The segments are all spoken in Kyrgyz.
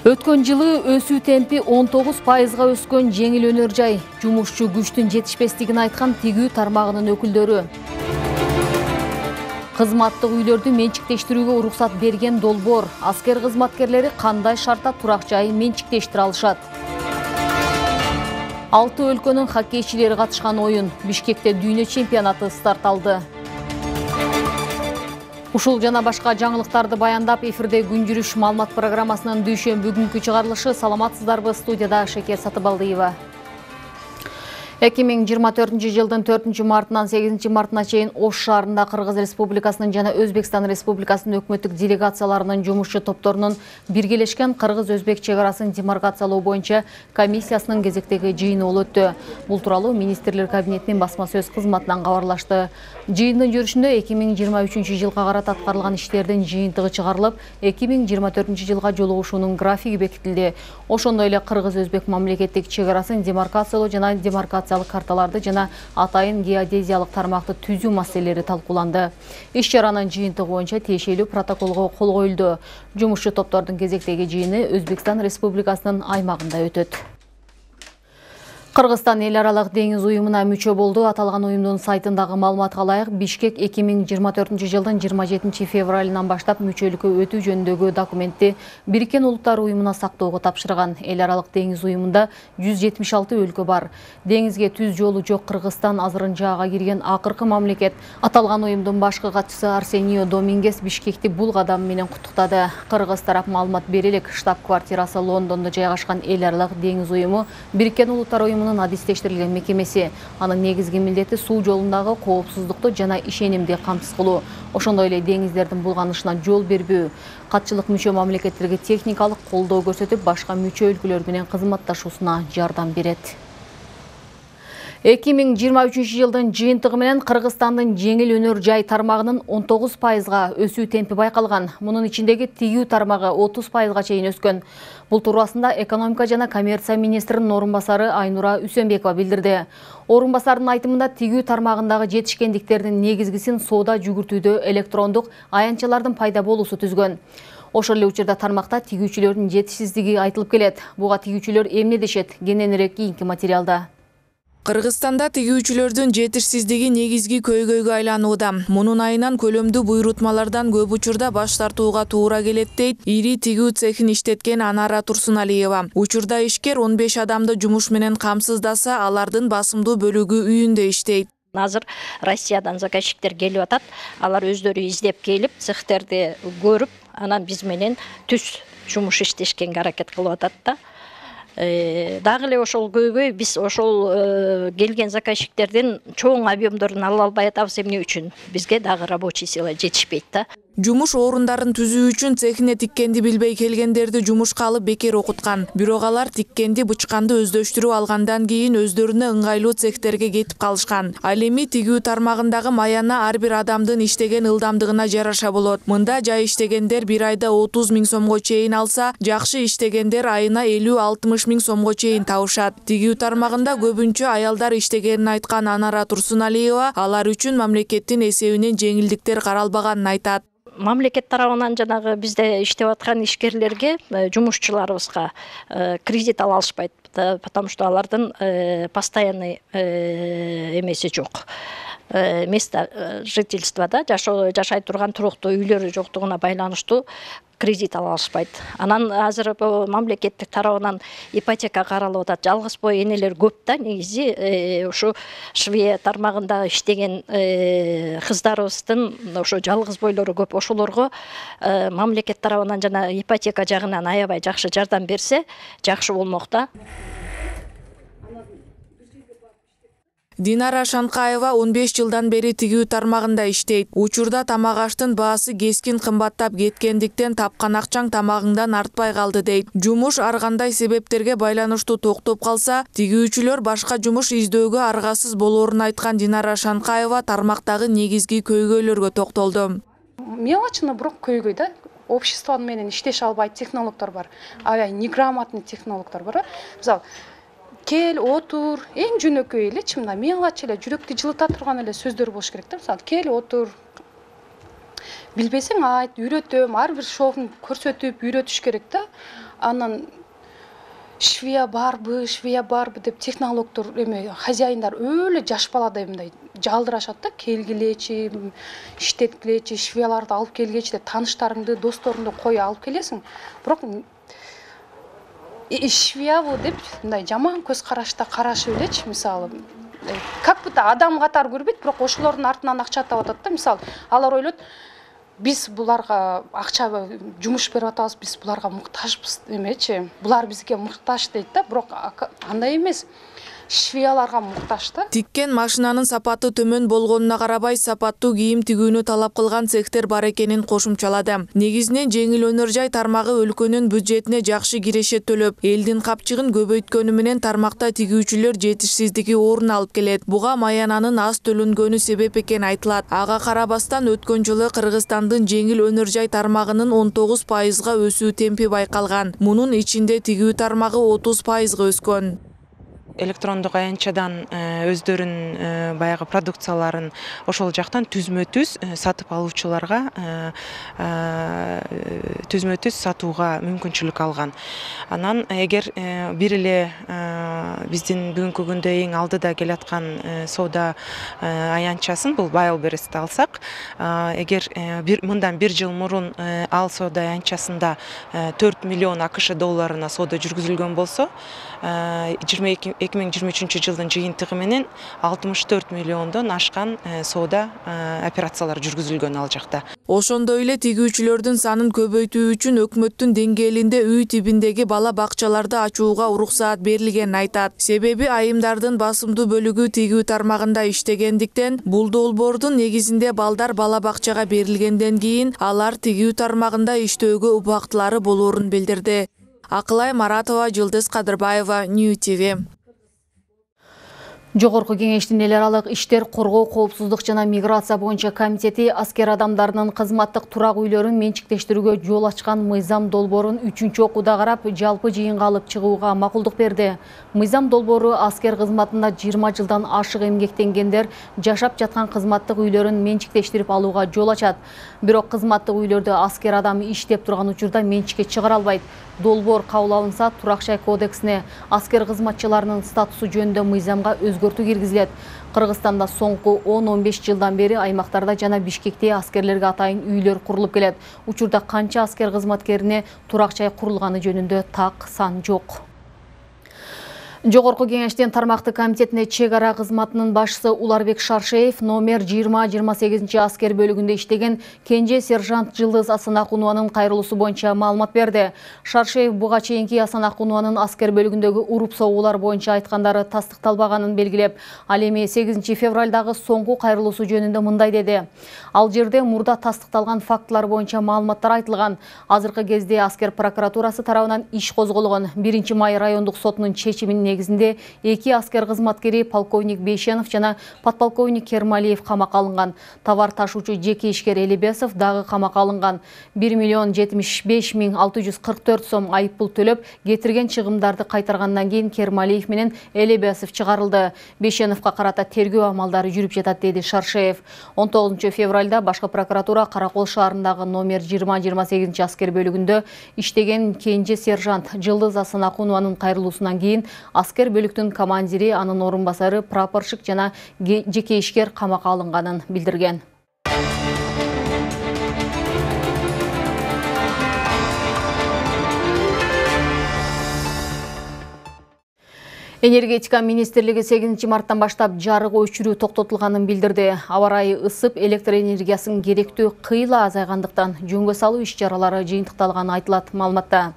Өткөн жылы өсүү темпи 19%га өскөн жеңил өнөр жай, жумушчу күчтүн жетишпестигин айткан тигүү тармагынын өкүлдөрү. Кызматтык үйлөрдү менчиктештирүүгө уруксат берген долбоор, аскер кызматкерлери кандай шартта турак жай менчиктештире алышат? 6 өлкөнүн хоккейчилери катышкан оюн, Бишкекте дүйнө чемпионаты старт алды. Ушул жана башка жаңылыктарды баяндап, эфирде күн жүрүш маалымат программасынын дүйшөмбү күнкү чыгарылышы. Саламатсыздарбы? Студияда Шекер Сатыбалдиева. 2024 жылдын 4 мартынан 8 мартына чейин Ош шаарында Кыргыз Республикасынын жана Өзбекстан Республикасынын өкмөттүк делегацияларынын жумушчу топторунун биргелешкен Кыргыз-Өзбек чек арасын демаркациялоо боюнча комиссиясынын кезектеги жыйыны болуп өттү. Бул тууралуу министрлер кабинетинин басма сөз кызматынан кабарлашты. Жыйындын жүрүшүндө 2023 жылга карата аткарылган иштердин жыйынтыгы чыгарылып, 2024 жылга жолугушуунун графиги бекитилди. Ошондой эле Кыргыз-Өзбек мамлекеттик чек арасын демаркациялоо жана демаркациялык карталарды жана атайын геодезиялык тармакты түзүү маселелери талкууланды. Иш чаранын жыйынтыгы боюнча тиешелүү протоколго кол коюлду. Жумушчу топтордун кезектеги жыйыны Өзбекстан Республикасынын аймагында өтөт. Кыргызстан эл аралык деңиз уюмуна мүчө болду. Аталган уюмдун сайтындагы маалыматка ылайык, Бишкек 2024 жылдын 27 февралынан баштап мүчөлүккө өтүү жөнүндөгү документти Бириккен Улуттар уюмуна сактоого тапшырган. Эл аралык деңиз уюмунда 176 өлкө бар. Деңизге түз жолу жок Кыргызстан азырынча кирген акыркы мамлекет. Аталган уюмдун башкы катчысы Арсенио Домингес Бишкекти бул кадам менен куттуктады. Кыргыз тарап маалымат бере элек, штаб-квартирасы Лондондо жайгашкан эл аралык деңиз уюму Бириккен Улуттар уюмунун адистештирилген мекемеси. Анын негизги милдети суу жолундагы коопсуздукту жана ишенимди камсыз кылуу. Ошондой эле деңиздердин булганышына жол бербөө. Катчылык мүчө мамлекеттерге техникалык колдоо көрсөтүп, башка мүчө өлкөлөр менен кызматташуусуна жардам берет. 2023 жылдын жыйынтыгы менен Кыргызстандын жеңил өнөр жай тармагынын 19%га өсүү темпи байкалган. Мунун ичиндеги тигүү тармагы 30%га чейин өскөн. Бул туурасында экономика жана коммерция министринин орун басары Айнура Үсөнбекова билдирди. Орун басардын айтымында тигүү тармагындагы жетишкендиктердин негизгисин соода жүгүртүүдө электрондук аянтчалардын пайда болуусу түзгөн. Ошол эле учурда тармакта тигүүчүлөрдүн жетишсиздиги айтылып келет. Буга тигүүчүлөр эмне дешет? Кененирээк кийинки материалда. Кыргызстанда тигүүчүлөрдүн жетишсиздиги негизги көйгөйгө айланууда. Мунун айынан көлөмдүү буйрутмалардан көп учурда баш тартууга туура келет дейт ири тигүү цехин иштеткен Анара Турсуналиева. Учурда ишкер 15 адамды жумуш менен камсыздаса, алардын басымдуу бөлүгү үйүндө иштейт. Азыр Россиядан заказчиктер келип атат. Алар өздөрү издеп келип, цехтерди көрүп, анан биз менен түз жумуш иштешкенге аракет кылып атат да. Дагы эле ошол көйгөй биз ошол келген заказчиктердин чоң объемдорун ала албай атабыз. Эмне үчүн? Бизге дагы рабочий сила жетишпейт да. Жумуш орундарын түзүү үчүн цехине тиккенди билбей келгендерди жумушка алып бекер окуткан. Бирок алар тиккенди, бычканды өздөштүрүп алгандан кийин өздөрүнө ыңгайлуу цехтерге кетип калышкан. Ал эми тигүү тармагындагы маяна ар бир адамдын иштеген ылдамдыгына жараша болот. Мында жай иштегендер бир айда 30 000 сомго чейин алса, жакшы иштегендер айына 50-60 000 сомго чейин табышат. Тигүү тармагында көбүнчө аялдар иштегенин айткан Анара Турсуналиева алар үчүн мамлекеттин эсебинен жеңилдиктер каралбаганын айтат. Мамлекет тарабынан жанагы бизде иштеп аткан ишкерлерге, жумушчуларыбызга кредит ала алышпайт, потому что алардын постоянный эмеси жок. Место жительствода жашай турган туруктуу үйлөрү жоктугуна байланыштуу кредит ала алышпайт. Анан азыр мамлекеттик тарабынан ипотека каралып атат. Жалгыз бой энелер көп да, негизи ушу Швея тармагында иштеген кыздарыбыздын ошо жалгыз бойлору көп. Ошолорго мамлекет тарабынан жана ипотека жагынан аябай жакшы жардам берсе, жакшы болмок да. Динара Шанкаева 15 жылдан бери тигүү тармагында иштейт. Учурда тамак аштын баасы кескин кымбаттап кеткендиктен тапкан акчаң тамагыңдан артпай калды дейт. Жумуш ар кандай себептерге байланыштуу токтоп калса, тигүүчүлөр башка жумуш издөөгө аргасыз болоорун айткан Динара Шанкаева тармактагы негизги көйгөйлөргө токтолду. мелочно, бирок көйгөй да. Общество менен иштеше албайт технологдор бар. Аябай неграмотный технологдор бар. Мисалы, кел, отур, эң жөнөкөй элечи, мына мелочь эле, жүрөктү жылыта турган эле сөздөр болуш керек да. Мисалы, кел, отур. Билбесең айт, үйрөтөм, ар бир шоун көрсөтүп, үйрөтүш керек да. Анан швея барбы деп технологдор хозяиндар өлө жаш баладай мындай жалдырашат да, келгилечи, иштеткилечи, швеяларды алып келгечи деп тааныштарыңды, досторуңду кой алып келесиң. Бирок швеябы деп мындай жаман көз карашта карашып элечи, мисалы, как будто адам катары көрбөйт, бирок ошолордун артынан акча таап атат да. Мисалы, алар ойлойт, биз буларга акча жумуш берип атабыз, биз буларга муктажбыз эмечи. Булар бизге муктаж дейт да, бирок андай эмес. Швеяларга муктаж да. Тиккен машинанын сапаты төмөн болгонуна карабай, сапаттуу кийим тигүүнү талап кылган цехтер бар экенин кошумчалады. Негизинен жеңил өнөр жай тармагы өлкөнүн бюджетине жакшы кирешет төлөп, элдин капчыгын көбөйткөнү менен тармакта тигүүчүлөр жетишсиздиги орун алып келет. Буга маянанын аз төлөнгөнү себеп экен айтылат. Ага карабастан өткөн жылы Кыргызстандын жеңил өнөр жай тармагынын 19%га өсүү темпи байкалган. Мунун ичинде тигүү тармагы 30%га өскөн. Электрондук аянтчадан өздөрүнүн баягы продукцияларын ошол жактан түзмө-түз сатып алуучуларга түзмө-түз сатууга мүмкүнчүлүк алган. Анан эгер бир эле биздин бүгүнкү күндө эң алдыда келаткан соода аянтчасын, бул Wildberries'ти алсак, эгер мындан бир жыл мурун ал соода аянтчасында 4 миллион АКШ долларына соода жүргүзүлгөн болсо, 2023 жылдын жыйынтыгы менен 64 миллиондон ашкан соода операциялар жүргүзүлгөн ал жакта. Ошондой эле тигүүчүлөрдүн санын көбөйтүү үчүн өкмөттүн деңгээлинде үй тибиндеги бала бакчаларды ачууга уруксаат берилгенин айтат. Себеби айымдардын басымдуу бөлүгү тигүү тармагында иштегендиктен, бул долбоордун негизинде балдар бала бакчага берилгенден кийин алар тигүү тармагында иштөөгө убактылары болоорун билдирди. Акылай Маратова, Жылдыз Кадырбаева, New TV. Жогорку кеңештин эл аралык иштер, коргоо, коопсуздук жана миграция боюнча комитети аскер адамдарынын кызматтык турак үйлөрүн менчиктештирүүгө жол ачкан мыйзам долбоорун 3-окууда карап, жалпы жыйынга алып чыгууга макулдук берди. Мыйзам долбоору аскер кызматында 20 жылдан ашык эмгектенгендер жашап жаткан кызматтык үйлөрүн менчиктештирип алууга жол ачат. Бирок кызматтык үйлөрдө аскер адам иштеп турган учурда менчикке чыгара албайт. Долбоор кабыл алынса, турак жай кодексине аскер кызматчыларынын статусу жөнүндө мыйзамга өзгөртүү киргизилет. Кыргызстанда соңку 10-15 жылдан бери аймактарда жана Бишкекте аскерлерге атайын үйлөр курулуп келет. Учурда канча аскер кызматкерине турак жай курулганы жөнүндө так сан жок. Жогорку кеңештин тармактык комитетине чек ара кызматынын башчысы Уларбек Шаршеев номер 20-28 аскер бөлүгүндө иштеген кенже сержант Жылдыз Асанакунованын кайрылуусу боюнча маалымат берди. Шаршеев буга чейинки Асанакунованын аскер бөлүгүндөгү уруп согуулар боюнча айткандары тастыкталбаганын белгилеп, ал эми 8 февралдагы соңку кайрылуусу жөнүндө мындай деди. Ал жерде мурда тастыкталган фактылар боюнча маалыматтар айтылган. Азыркы кезде аскер прокуратурасы тарабынан иш козголгон. 1 май райондук сотунун чечиминин негизинде 2 аскер кызматкери полковник Бейшенов жана подполковник Кермалиев камакка алынган. Товар ташуучу жеке ишкер Элебесов дагы камакка алынган. 1,075,644 сом айыппул төлөп, кетирген чыгымдарды кайтаргандан кийин Кермалиев менен Элебесов чыгарылды. Бейшеновго карата тергөө амалдары жүрүп жатат, деди Шаршеев. 19 февралда башкы прокуратура Каракол шаарындагы номер 20-28 аскер бөлүгүндө иштеген кенже сержант Жылдыз Асанакунованын кайрылуусунан кийин аскер бөлүктүн командири, анын орун басары, прапорщик жана жеке ишкер камакка алынганын билдирген. Энергетика министрлиги 8 марттан баштап жарык өчүрүү токтотулганын билдирди. Аба ырайы ысып, электр энергиясынын керектүү кыйла азайгандыктан жөнгө салуу иш-чаралары жыйынтыкталганы айтылат маалыматта.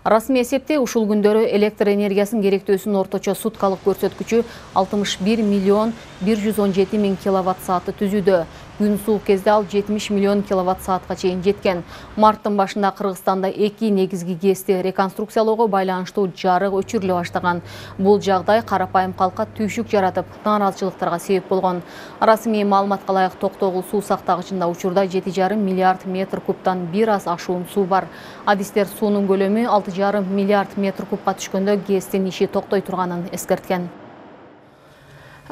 Расмий эсепте ушул күндөрү электр энергиясынын керектөөсүнүн орточо суткалык көрсөткүчү 61,117,000 киловатт саатты түзүүдө. Күн суук кезде ал 70 миллион киловатт саатка чейин жеткен. Марттын башында Кыргызстанда 2 негизги ГЭСти реконструкциялоого байланыштуу жарык өчүрүлө баштаган. Бул жагдай карапайым калкка түйшүк жаратып, нааразычылыктарга себеп болгон. Расмий маалыматка ылайык Токтогул суу сактагычында учурда 7,5 миллиард метр кубтан бир аз ашуун суу бар. Адистер суунун көлөмү 6,5 миллиард метр кубка түшкөндө ГЭСтин иши токтой турганын эскерткен.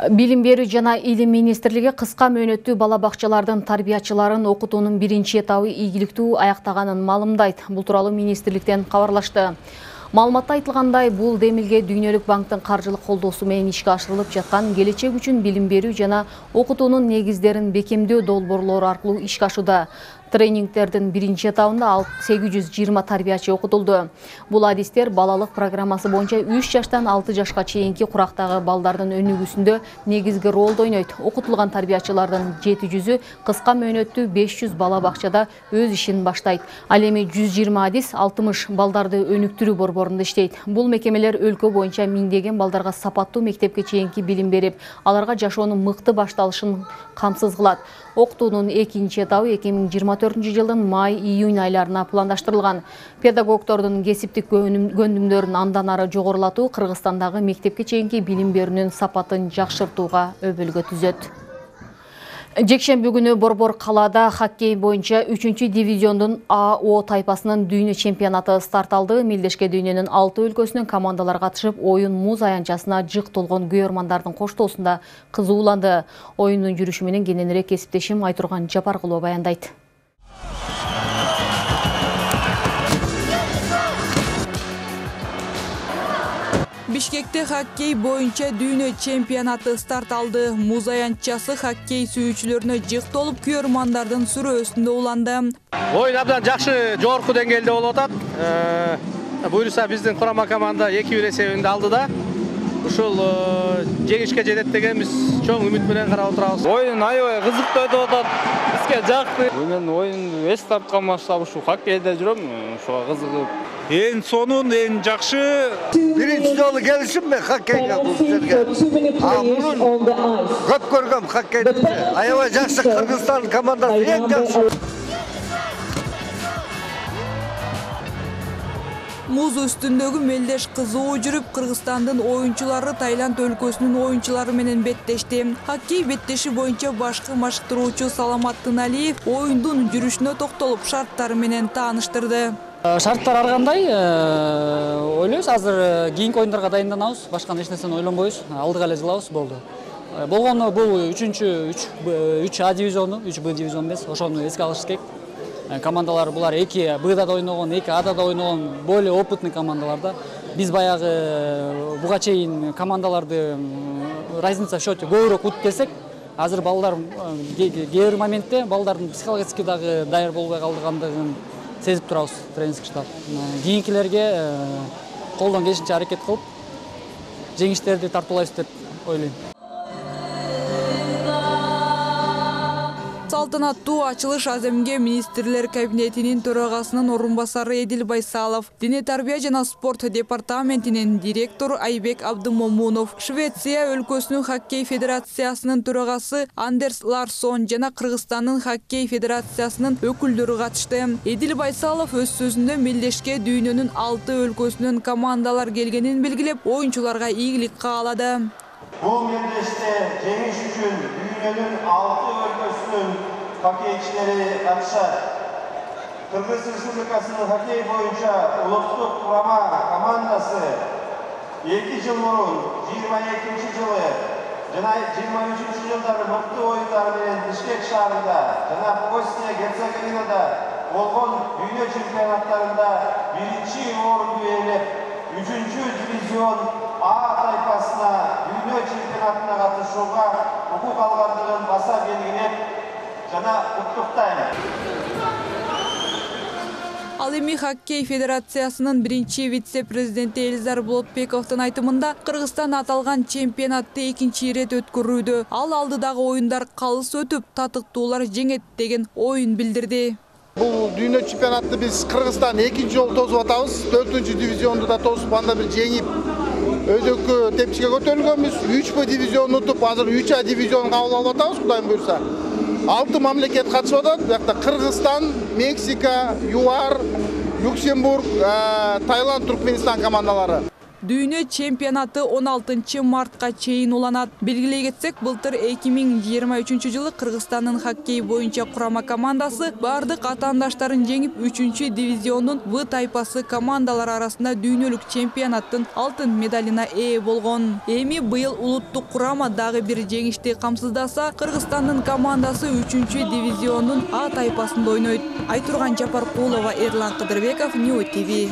Билим берүү жана илим министрлиги кыска мөөнөттүү бала бакчалардын тарбиячыларын окутуунун биринчи этабы ийгиликтүү аяктаганын маалымдайт. Бул тууралуу министрликтен кабарлашты. Маалыматта айтылгандай, бул демилге Дүйнөлүк банктын каржылык колдоосу менен ишке ашырылып жаткан келечек үчүн билим берүү жана окутуунун негиздерин бекемдөө долбоорлору аркылуу ишке ашууда. Тренингтердин биринчи этабында 820 тарбиячы окутулду. Бул адистер балалык программасы боюнча 3 жаштан 6 жашка чейинки курактагы балдардын өнүгүүсүндө негизги ролду ойнойт. Окутулган тарбиячылардын 700-ü кыска мөөнөттүү 500 бала бакчада өз ишин баштайт. Ал эми 120 адис 60 балдарды өнүктүрүү борборунда иштейт. Бул мекемелер өлкө боюнча миңдеген балдарга сапаттуу мектепке чейинки билим берип, аларга жашоонун мыкты башталышын камсыз кылат. Окутуунун экинчи этабы 2024 жылдын май-июнь айларына пландаштырылган. Педагогдордун кесиптик көндүмдөрүн андан ары жогорулатуу Кыргызстандагы мектепке чейинки билим берүүнүн сапатын жакшыртууга өбөлгө түзөт. Жекшемби күнү Борбор калаада хоккей боюнча 3-дивизиондун АО тайпасынын дүйнө чемпионаты старт алды. Мелдешке дүйнөнүн 6 өлкөсүнөн командалар катышып, оюн муз аянтчасына жык толгон күйөрмандардын коштоосунда кызууланды. Оюндун жүрүшү менен кененирээк кесиптешим Айтурган Жапаркулова баяндайт. Бишкекте хоккей боюнча дүйнө чемпионаты старт алды. Муз аянтчасы хоккей сүйүүчүлөрүнө жык толуп, күйөрмандардын сүрөөсүндө уланды. Оюн абдан жакшы, жогорку деңгээлде болуп атат. Буюрса биздин курама команда 2-1 эсебинде алды да. Ушул жеңишке жетет деген биз чоң үмүт менен карап отурабыз. Оюн аябай кызыктуу өтүп атат. Бизге жакты. Мен оюн эс тарткан баштап ушу хоккейде жүрөм, ошого кызыгып. Эң сонун, эң жакшы. Биринчи жолу келишимме хоккейге бул жерге. Мурун көп көргөм хоккейди. Аябай жакшы Кыргызстан командасы эң жакшы. Муз үстүндөгү мелдеш кызуу жүрүп, Кыргызстандын оюнчулары Таиланд өлкөсүнүн оюнчулары менен беттешти. Хоккей беттеши боюнча башкы машыктыруучу Саламат Тыналиев оюндун жүрүшүнө токтолуп, шарттары менен тааныштырды. Шарттар ар кандай ойлойбуз, азыр кийинки оюндарга дайынданабыз, башка эч нерсени ойлонбойбуз, алдыга эле жылабыз, болду. Болгону бул 3А дивизиону, 3Б дивизион эмес, ошону эске алыш керек. Командалар булар 2Б'да да ойногон, 2A'да да ойногон, более опытный командалар да. Биз баягы буга чейин командаларды разница в счете көбүрөөк утуп келсек, азыр балдар кээ бир моментте балдардын психологически дагы даяр болбой калдыгандыгын сезип турабыз тренерский штаб. Кийинкилерге колдон келишинче аракет кылып, жеңиштерди тартуулайбыз деп ойлойм. Салтанаттуу ачылыш Аземге министрлер кабинетинин төрагасынын орун басары Эдил Байсалов, Дене тарбия жана спорт департаментинин директору Айбек Абдымомунов, Швеция өлкөсүнүн хоккей федерациясынын төрагасы Андерс Ларсон жана Кыргызстандын хоккей федерациясынын өкүлдөрү катышты. Эдил Байсалов өз сөзүндө мелдешке дүйнөнүн 6 өлкөсүнөн командалар келгенин белгилеп, оюнчуларга ийгилик каалады. Бул мелдеште жеңиш үчүн дүйнөнүн 6 өлкөсүнүн хоккейчилери катышат. Кыргыз Республикасынын хоккей боюнча улуттук курама командасы 2 жыл мурун 22 жылы жана 23 жылдары мыкты оюндар менен Бишкек шаарында жана Босния Герцеговинада болгон дүйнө чемпионаттарында 1-чи орунду ээлеп, 3-чү дивизион А тайпасына дүйнө чемпионатына катышууга укук алгандыгын баса белгилеп жана куттуктайм. Ал эми хоккей федерациясынын биринчи вице-президенти Элизар Болотбековдун айтымында Кыргызстан аталган чемпионатты экинчи ирет өткөрүүдө. Ал алдыдагы оюндар калыс өтүп, татыктуулар жеңет деген оюн билдирди. Бул дүйнө чемпионатты биз Кыргызстан экинчи жолу тосуп атабыз. 4-дивизионду да тосуп, анда бир жеңип, өзөккө тепчиге көтөрүлгөнбүз. 3Б дивизионун утуп, азыр 3А дивизионун кабыл алып атабыз, Кудайым буйрса. 6 мамлекет катышып атат. Бuyakta Кыргызстан, Мексика, ЮАР, Люксембург, Таиланд, Туркменистан командалары. Дүйнө чемпионаты 16 мартка чейин уланат. Белгилей кетсек, былтыр 2023 жылы Кыргызстандын хоккей боюнча курама командасы бардык атаандаштарын жеңип 3-дивизиондун В тайпасы командалар арасында дүйнөлүк чемпионаттын алтын медалына ээ болгон. Эми быйыл улуттук курама дагы бир жеңишти камсыздаса, Кыргызстандын командасы 3-дивизиондун А тайпасында ойнойт. Айтурган Жапаркулова, Эрлан Кыдырбеков, New TV.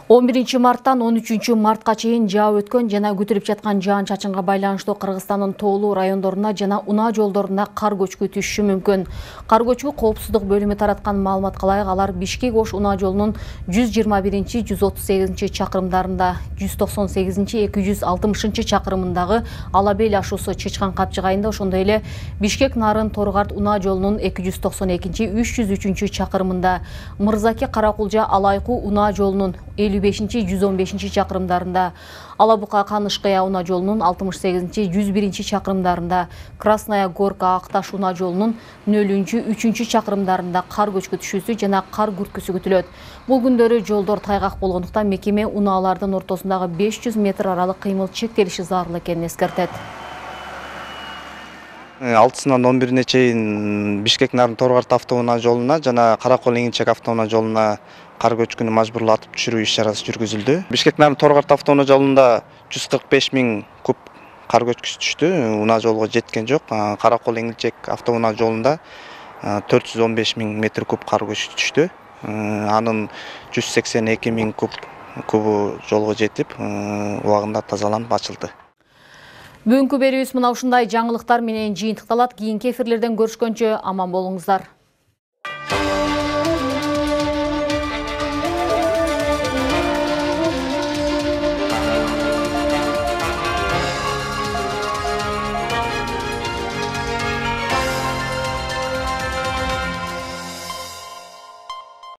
11 марттан 13 мартка чейин жаап өткөн жана күтүлүп жаткан жаан-чачынга байланыштуу Кыргызстандын тоолуу райондоруна жана унаа жолдоруна кар көчкү түшүшү мүмкүн. Кар көчкү коопсуздук бөлүмү тараткан маалыматка ылайык, алар Бишкек-Ош унаа жолунун 121-138 чакырымдарында, 198-260 чакырымындагы Алабел ашуусу Чычкан капчыгайында, ошондой эле Бишкек-Нарын Торгарт унаа жолунун 292-303 чакырымында, Мырзаке Каракулжа Алайкуу унаа жолунун 55-115 чакырымдарында, Алабука Канышкая унаа жолунун 68-101 чакырымдарында, Красная Горка Акташ унаа жолунун 0-3 чакырымдарында кар көчкү түшүүсү жана кар күрткүсү күтүлөт. Бул күндөрү жолдор тайгак болгондуктан мекеме унаалардын ортосундагы 500 метр аралык кыймыл чектелиши зарыл экенин эскертет. 6-сынан 11-ине чейин Бишкек-Нарын Торгарт автоунаа жолуна жана Каракол-Эңилчек автоунаа жолуна кар көчкүнү мажбурлуу атып түшүрүү иш-чарасы жүргүзүлдү. Бишкек-Нарын Торгарт автоунаа жолунда 145 000 куб кар көчкүсү түштү. Унаа жолго жеткен жок. Каракол-Эңилчек автоунаа жолунда 415 000 метр куб кар көчкүсү түштү. Анын 182 000 кубу жолго жетип, убагында тазаланып ачылды. Бүгүнкү берүүбүз мына ушундай жаңылыктар менен жыйынтыкталат. Кийинки эфирлерден көрүшкөнчө аман болуңуздар.